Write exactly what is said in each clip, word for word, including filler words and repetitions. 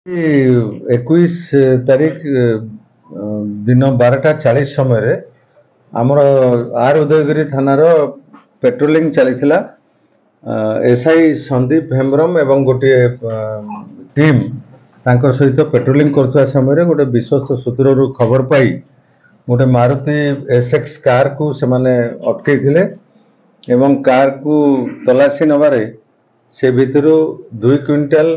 ଏକୋଇଶ ତାରିଖ ଦିନ ବାରଟା ଚାଳିଶ ସମୟରେ ଆମର ଆର୍ ଉଦୟଗିରି ଥାନାର ପେଟ୍ରୋଲିଂ ଚାଲିଥିଲା। ଏସ୍ I Sandeep Hembram ଏବଂ ଗୋଟିଏ ଟିମ୍ ତାଙ୍କ ସହିତ ପେଟ୍ରୋଲିଂ କରୁଥିବା ସମୟରେ ଗୋଟେ ବିଶ୍ୱସ୍ତ ସୂତ୍ରରୁ ଖବର ପାଇ ଗୋଟେ ମାରୁତି ଏସ୍ ଏକ୍ସ କାର୍କୁ ସେମାନେ ଅଟକେଇଥିଲେ ଏବଂ କାର୍କୁ ତଲାସି ନେବାରେ ସେ ଭିତରୁ ଦୁଇ କୁଇଣ୍ଟାଲ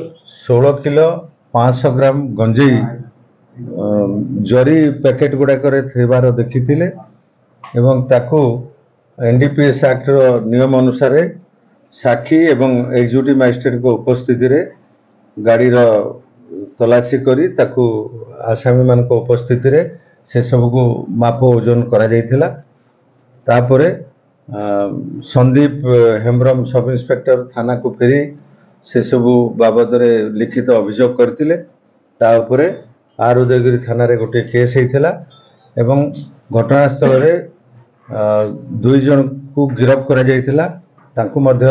ଷୋହଳ କିଲୋ ପାଞ୍ଚଶହ ଗ୍ରାମ ଗଞ୍ଜେଇ ଜରି ପ୍ୟାକେଟ୍ ଗୁଡ଼ାକରେ ଥିବାର ଦେଖିଥିଲେ ଏବଂ ତାକୁ N D P S actor ନିୟମ ଅନୁସାରେ ସାକ୍ଷୀ ଏବଂ ଏକ୍ଜିକ୍ୟୁଟିଭ୍ ମାଜିଷ୍ଟ୍ରେଟଙ୍କ ଉପସ୍ଥିତିରେ ଗାଡ଼ିର ତଲାସି କରି ତାକୁ ଆସାମୀମାନଙ୍କ ଉପସ୍ଥିତିରେ ସେସବୁକୁ ମାପ ଓଜନ କରାଯାଇଥିଲା। ତାପରେ ସନ୍ଦୀପ ହେମ୍ବ୍ରମ ସବ୍ ଇନ୍ସପେକ୍ଟର ଥାନାକୁ ଫେରି ସେସବୁ ବାବଦରେ ଲିଖିତ ଅଭିଯୋଗ କରିଥିଲେ। ତା ଉପରେ ଆର୍ ଉଦୟଗିରି ଥାନାରେ ଗୋଟିଏ କେସ୍ ହେଇଥିଲା ଏବଂ ଘଟଣାସ୍ଥଳରେ ଦୁଇ ଜଣଙ୍କୁ ଗିରଫ କରାଯାଇଥିଲା। ତାଙ୍କୁ ମଧ୍ୟ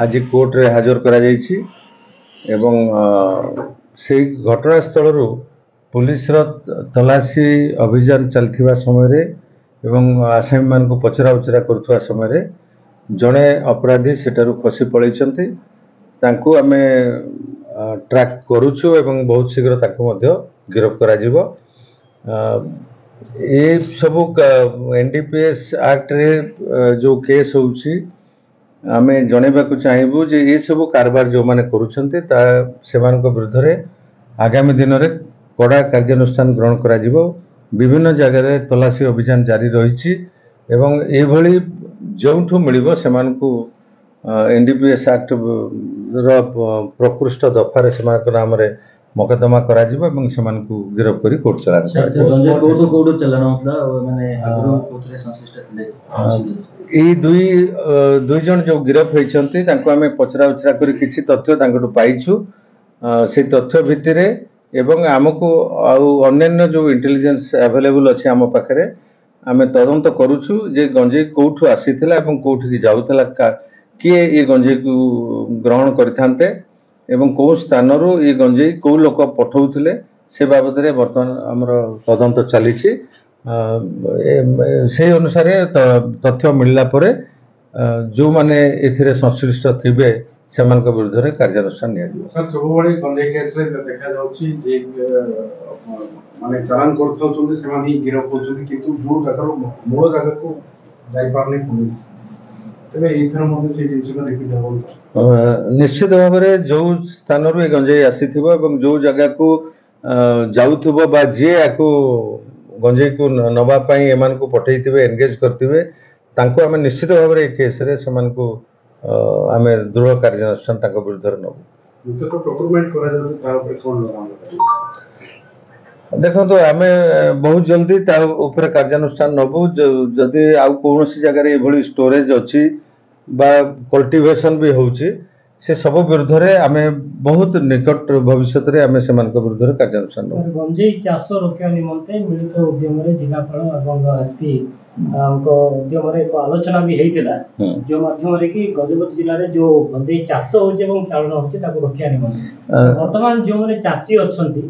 ଆଜି କୋର୍ଟରେ ହାଜର କରାଯାଇଛି ଏବଂ ସେଇ ଘଟଣାସ୍ଥଳରୁ ପୋଲିସର ତଲାସି ଅଭିଯାନ ଚାଲିଥିବା ସମୟରେ ଏବଂ ଆସାମୀମାନଙ୍କୁ ପଚରା ଉଚରା କରୁଥିବା ସମୟରେ ଜଣେ ଅପରାଧୀ ସେଠାରୁ ଖସି ପଳାଇଛନ୍ତି। ତାଙ୍କୁ ଆମେ ଟ୍ରାକ୍ କରୁଛୁ ଏବଂ ବହୁତ ଶୀଘ୍ର ତାଙ୍କୁ ମଧ୍ୟ ଗିରଫ କରାଯିବ। ଏସବୁ ଏନ୍ ଡି ପି ଏସ୍ ଆକ୍ଟରେ ଯେଉଁ କେସ୍ ହେଉଛି, ଆମେ ଜଣାଇବାକୁ ଚାହିଁବୁ ଯେ ଏସବୁ କାରବାର ଯେଉଁମାନେ କରୁଛନ୍ତି ତା ସେମାନଙ୍କ ବିରୁଦ୍ଧରେ ଆଗାମୀ ଦିନରେ କଡ଼ା କାର୍ଯ୍ୟାନୁଷ୍ଠାନ ଗ୍ରହଣ କରାଯିବ। ବିଭିନ୍ନ ଜାଗାରେ ତଲାସି ଅଭିଯାନ ଜାରି ରହିଛି ଏବଂ ଏଇଭଳି ଯେଉଁଠୁ ମିଳିବ ସେମାନଙ୍କୁ N D P S actor ପ୍ରକୃଷ୍ଟ ଦଫାରେ ସେମାନଙ୍କ ନାମରେ ମକଦ୍ଦମା କରାଯିବ ଏବଂ ସେମାନଙ୍କୁ ଗିରଫ କରି କୋର୍ଟ ଚାଲାଣ କରାଯିବ। କୋଉଠୁ କୋଉଠୁ ଚାଲାଣ ହଉଥିଲା, ମାନେ ଆଗରୁ କୋଉଥିରେ ସଂଶ୍ଳିଷ୍ଟ ଥିଲେ? ଏଇ ଦୁଇ ଦୁଇ ଜଣ ଯୋଉ ଗିରଫ ହେଇଛନ୍ତି ତାଙ୍କୁ ଆମେ ପଚରା ଉଚରା କରି କିଛି ତଥ୍ୟ ତାଙ୍କଠୁ ପାଇଛୁ। ସେଇ ତଥ୍ୟ ଭିତ୍ତିରେ ଏବଂ ଆମକୁ ଆଉ ଅନ୍ୟାନ୍ୟ ଯୋଉ ଇଣ୍ଟେଲିଜେନ୍ସ ଆଭେଲେବୁଲ ଅଛି ଆମ ପାଖରେ, ଆମେ ତଦନ୍ତ କରୁଛୁ ଯେ ଗଞ୍ଜେଇ କୋଉଠୁ ଆସିଥିଲା ଏବଂ କୋଉଠିକି ଯାଉଥିଲା, କିଏ ଏ ଗଞ୍ଜେଇକୁ ଗ୍ରହଣ କରିଥାନ୍ତେ ଏବଂ କେଉଁ ସ୍ଥାନରୁ ଏ ଗଞ୍ଜେଇ କେଉଁ ଲୋକ ପଠଉଥିଲେ, ସେ ବାବଦରେ ବର୍ତ୍ତମାନ ଆମର ତଦନ୍ତ ଚାଲିଛି। ସେଇ ଅନୁସାରେ ତଥ୍ୟ ମିଳିଲା ପରେ ଯେଉଁମାନେ ଏଥିରେ ସଂଶ୍ଳିଷ୍ଟ ଥିବେ ସେମାନଙ୍କ ବିରୁଦ୍ଧରେ କାର୍ଯ୍ୟାନୁଷ୍ଠାନ ନିଆଯିବ। ସାର୍, ସବୁବେଳେ ଗଞ୍ଜେଇ କେସ୍ରେ ଦେଖାଯାଉଛି ଯେ ମାନେ ଚାଲାଣ କରୁଥାଉଛନ୍ତି ସେମାନେ ହିଁ ଗିରଫ ହେଉଛନ୍ତି, କିନ୍ତୁ ଯୋଉ ଜାଗାରୁ ମୂଳ ଜାଗାକୁ ଯାଇପାରୁନି ପୋଲିସ। ତେବେ ଏଇଥର ମଧ୍ୟ ସେଇ ଜିନିଷଟା ରିପିଟ୍ ହେବ? ନିଶ୍ଚିତ ଭାବରେ ଯୋଉ ସ୍ଥାନରୁ ଏ ଗଞ୍ଜେଇ ଆସିଥିବ ଏବଂ ଯୋଉ ଜାଗାକୁ ଯାଉଥିବ ବା ଯିଏ ୟାକୁ ଗଞ୍ଜେଇକୁ ନେବା ପାଇଁ ଏମାନଙ୍କୁ ପଠେଇଥିବେ, ଏନଗେଜ କରିଥିବେ, ତାଙ୍କୁ ଆମେ ନିଶ୍ଚିତ ଭାବରେ ଏ କେସ୍ରେ ସେମାନଙ୍କୁ ଆମେ ଦୃଢ଼ କାର୍ଯ୍ୟାନୁଷ୍ଠାନ ତାଙ୍କ ବିରୁଦ୍ଧରେ ନେବୁ। ମୁଖ୍ୟତଃ ପ୍ରୋକ୍ୟୁରମେଣ୍ଟ କରାଯାଉଛି, ତା ଉପରେ କ'ଣ? ଦେଖନ୍ତୁ, ଆମେ ବହୁତ ଜଲ୍ଦି ତା ଉପରେ କାର୍ଯ୍ୟାନୁଷ୍ଠାନ ନେବୁ। ଯଦି ଆଉ କୌଣସି ଜାଗାରେ ଏଭଳି ଷ୍ଟୋରେଜ ଅଛି ବା କଲ୍ଟିଭେସନ ବି ହେଉଛି, ସେ ସବୁ ବିରୁଦ୍ଧରେ ଆମେ ବହୁତ ନିକଟ ଭବିଷ୍ୟତରେ ଆମେ ସେମାନଙ୍କ ବିରୁଦ୍ଧରେ କାର୍ଯ୍ୟାନୁଷ୍ଠାନ ନେବୁ। ଗଞ୍ଜେଇ ଚାଷ ରୋକିବା ନିମନ୍ତେ ମିଳିତ ଉଦ୍ୟମରେ ଜିଲ୍ଲାପାଳ ଏବଂ ଏସ୍ପି ଙ୍କ ଉଦ୍ୟମରେ ଏକ ଆଲୋଚନା ବି ହେଇଥିଲା, ଯେଉଁ ମାଧ୍ୟମରେ କି ଗଜପତି ଜିଲ୍ଲାରେ ଯୋଉ ଗଞ୍ଜେଇ ଚାଷ ହଉଛି ଏବଂ ଚାଳନ ହଉଛି ତାକୁ ରୋକିବା ନିମନ୍ତେ। ବର୍ତ୍ତମାନ ଯେଉଁମାନେ ଚାଷୀ ଅଛନ୍ତି,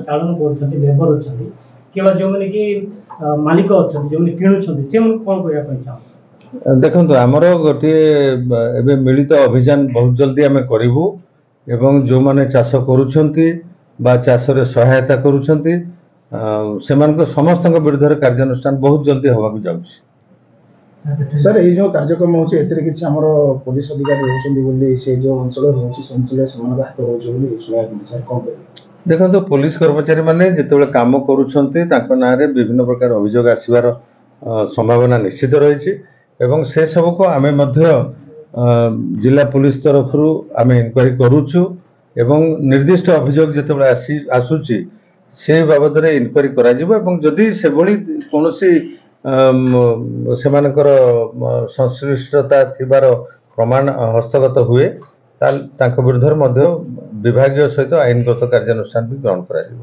ଚାଳନ କରୁଛନ୍ତି, ଲେବର ଅଛନ୍ତି କିମ୍ବା ଯେଉଁମାନେ କି ମାଲିକ ଅଛନ୍ତି, ଯେଉଁମାନେ କିଣୁଛନ୍ତି, ସେମାନଙ୍କୁ କ'ଣ କରିବା ପାଇଁ ଚାହୁଁଛନ୍ତି? ଦେଖନ୍ତୁ, ଆମର ଗୋଟିଏ ଏବେ ମିଳିତ ଅଭିଯାନ ବହୁତ ଜଲ୍ଦି ଆମେ କରିବୁ ଏବଂ ଯେଉଁମାନେ ଚାଷ କରୁଛନ୍ତି ବା ଚାଷରେ ସହାୟତା କରୁଛନ୍ତି ସେମାନଙ୍କ ସମସ୍ତଙ୍କ ବିରୁଦ୍ଧରେ କାର୍ଯ୍ୟାନୁଷ୍ଠାନ ବହୁତ ଜଲ୍ଦି ହେବାକୁ ଯାଉଛି। ସାର୍, ଏଇ ଯୋଉ କାର୍ଯ୍ୟକ୍ରମ ହେଉଛି ଏଥିରେ କିଛି ଆମର ପୋଲିସ ଅଧିକାରୀ ରହୁଛନ୍ତି ବୋଲି, ସେ ଯୋଉ ଅଞ୍ଚଳରେ ରହୁଛି ସେ ଅଞ୍ଚଳରେ ସେମାନଙ୍କ ହାତ ରହୁଛି ବୋଲି ଶୁଣିବାକୁ ମିଳୁଛି, ସାର୍ କ'ଣ କହିବେ? ଦେଖନ୍ତୁ, ପୋଲିସ କର୍ମଚାରୀମାନେ ଯେତେବେଳେ କାମ କରୁଛନ୍ତି ତାଙ୍କ ନାଁରେ ବିଭିନ୍ନ ପ୍ରକାର ଅଭିଯୋଗ ଆସିବାର ସମ୍ଭାବନା ନିଶ୍ଚିତ ରହିଛି ଏବଂ ସେସବୁକୁ ଆମେ ମଧ୍ୟ ଜିଲ୍ଲା ପୋଲିସ ତରଫରୁ ଆମେ ଇନକ୍ୱାରି କରୁଛୁ ଏବଂ ନିର୍ଦ୍ଦିଷ୍ଟ ଅଭିଯୋଗ ଯେତେବେଳେ ଆସି ଆସୁଛି ସେ ବାବଦରେ ଇନକ୍ୱାରି କରାଯିବ ଏବଂ ଯଦି ସେଭଳି କୌଣସି ସେମାନଙ୍କର ସଂଶ୍ଳିଷ୍ଟତା ଥିବାର ପ୍ରମାଣ ହସ୍ତଗତ ହୁଏ, ତାହେଲେ ତାଙ୍କ ବିରୁଦ୍ଧରେ ମଧ୍ୟ ବିଭାଗୀୟ ସହିତ ଆଇନଗତ କାର୍ଯ୍ୟାନୁଷ୍ଠାନ ବି ଗ୍ରହଣ କରାଯିବ।